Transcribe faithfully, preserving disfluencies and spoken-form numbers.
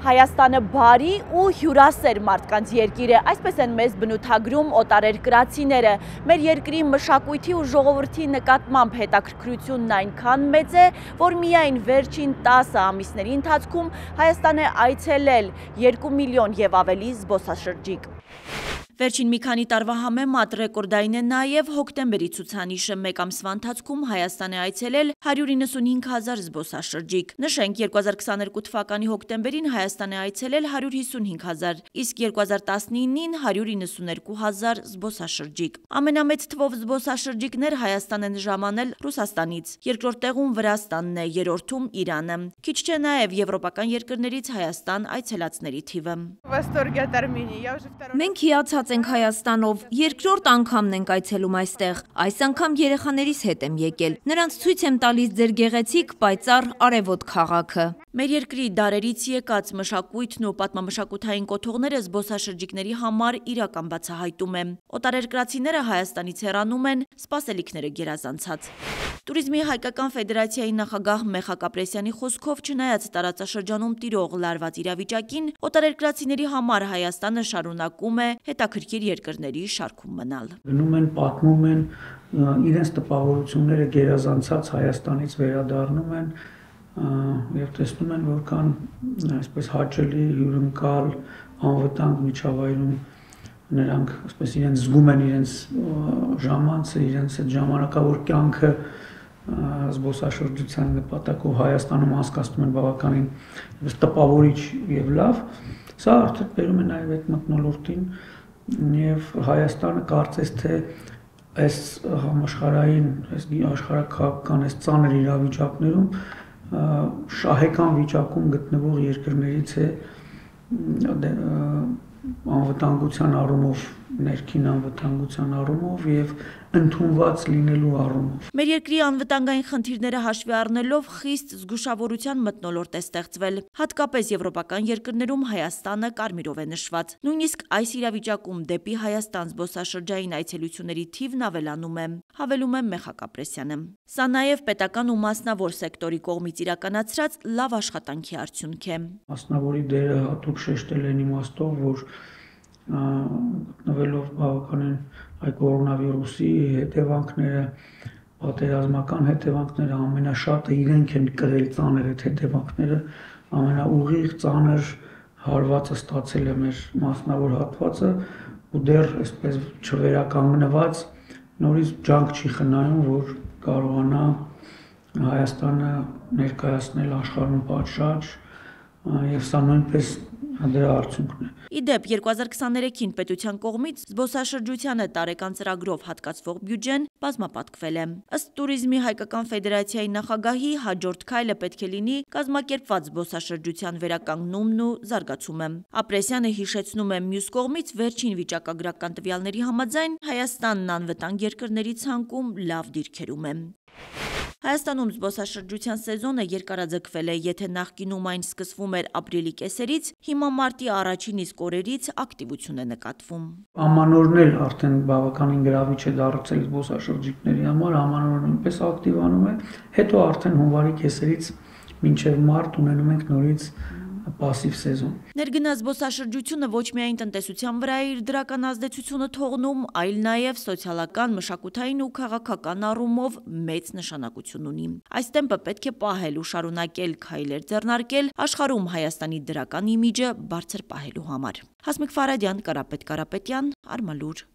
Հայաստանը բարի ու հյուրասեր մարդկանց երկիր է, այսպես են մեզ բնութագրում օտարերկրացիները։ Մեր երկրի մշակույթի ու ժողովրդի նկատմամբ հետաքրքրությունն այնքան մեծ է, որ միայն վերջին տասը ամիսների ընթացքում Հայաստան է այցելել երկու միլիոն եւ ավելի զբոսաշրջիկ։ Վերջին մի քանի տարվա համեմատ ռեկորդային է նաև հոկտեմբերի ցուցանիշը, մեկ ամսվա ընթացքում Հայաստան է այցելել հարյուր իննսունհինգ հազար զբոսաշրջիկ։ Նշենք, երկու հազար քսաներկու թվականի հոկտեմբերին Հայաստան է այցելել հարյուր հիսունհինգ հազար, իսկ երկու հազար տասնինին հարյուր իննսուներկու հազար զբոսաշրջիկ։ Ամենամեծ թվով զբոսաշրջիկներ Հայաստան են ժամանել Ռուսաստանից, երկրորդ տեղում Վրաստանն է, երրորդում Իրանը։ Քիչ չէ նաև եվրոպական երկրներից Հայաստան այցելածների թիվը։ Մենք հիացած ենք Հայաստանով, երկրորդ անգամն ենք այցելում այստեղ, այս անգամ երեխաներիս հետ եմ եկել, նրանց ցույց եմ տալիս ձեր գեղեցիկ պայծառ արևոտ քաղաքը։ Մեր երկրի դարերից եկած մշակույթն ու պատմամշակութային կոթողները զբոսաշրջիկների համար իրական բացահայտում է։ Օտարերկրացիները Հայաստանից հեռանում են, սպասելիքները գերազանցած։ Տուրիզմի հայկական ֆեդերացիայի նախագահ Մեխակ Ապրեսյանի խոսքով, չնայած տարածաշրջանում տիրող լարված իրավիճակին, օտարերկրացիների համար Հայաստանը շարունակում է հետաքրքիր երկրների շարքում մնալ։ Գնում են, պատմում են, իրենց տպավորությունները գերազանցած Հայաստանից վերադառնում են եւ տեսնում են, որքան այսպես հաճելի, հյուրընկալ, անվտանգ միջավայրում նրանք այսպես իրենց զգում են իրենց ժամանցը, իրենց այդ ժամանակավոր կյանքը զբոսաշրջության նպատակով Հայաստանում անցկացնում են բավականին տպավորիչ եւ լավ։ Սա արդեն բերում է նաև այդ մթնոլորտին եւ Հայաստանը կարծես թե այս համաշխարհային, այս աշխարհաքաղաքական այս ծանր իրավիճակներում շահեկան վիճակում գտնվող երկրներից է անվտանգության առումով, ներքին անվտանգության առումով եւ ընդունված լինելու առումով։ Մեր երկրի անվտանգային խնդիրները հաշվի առնելով խիստ զգուշավորության մթնոլորտ է ստեղծվել։ Հատկապես եվրոպական երկրներում Հայաստանը կարմիրով է նշված։ Նույնիսկ այս իրավիճակում դեպի Հայաստան զբոսաշրջային այցելությունների թիվն ավելանում է, հավելում է Մեխակ Ապրեսյանը։ Սա նաև պետական ու մասնավոր սեկտորի կողմից իրականացրած լավ աշխատանքի արդյունք է։ Մասնավորի դերը հատուկ շեշտել են իմաստով, որ գտնվելով բավականին այ կորոնավիրուսի հետևանքները, պատերազմական հետևանքները ամենաշատը իրենք են կրել ծանր այդ հետևանքները, ամենաուղիղ ծանր հարվածը ստացել է մեր մասնավոր հատվածը ու դեռ այսպես չվերականգնված նորից ջանք չի խնայում, որ կարողանա Հայաստանը ներկայացնել աշխարհում պատշաճ եւ սա նույնպես դրա արդյունքն է։ Իդեպ երկու հազար քսաներեքին պետության կողմից զբոսաշրջությանը տարեկան ծրագրով հատկացվող բյուջեն բազմապատկվել է։ Ըստ Տուրիզմի հայկական ֆեդերացիայի նախագահի, հաջորդ քայլը պետք է լինի կազմակերպված զբոսաշրջության վերականգնումն ու զարգացումը։ Ապրեսյանը հիշեցնում է, մյուս կողմից վերջին վիճակագրական տվյալների համաձայն Հայաստանն անվտանգ երկրների ցանկում լավ դիրքերում է։ Հայաստանում զբոսաշրջության սեզոնը երկարաձգվել է, եթե նախկինում այն սկսվում էր ապրիլի կեսերից, հիմա մարտի առաջին իսկ օրերից ակտիվություն է նկատվում։ Ամանորն էլ արդեն բավականին գրավիչ է դարձել զբոսաշրջիկների համար, ամանորը նույնպես ակտիվանում է, հետո արդեն հունվարի կեսերից մինչև մարտ ունենում ենք նորից պասիվ սեզոն։ Ներգնաց զբոսաշրջությունը ոչ միայն տնտեսության վրա է իր դրական ազդեցությունը թողնում, այլ նաև սոցիալական, մշակութային ու քաղաքական առումով մեծ նշանակություն ունի։ Այս տեմպը պետք է պահել ու շարունակել քայլեր ձեռնարկել աշխարհում Հայաստանի դրական իմիջը բարձր պահելու համար։ Հասմիկ Ֆարադյան, Կարապետ Կարապետյան, Արմալուր։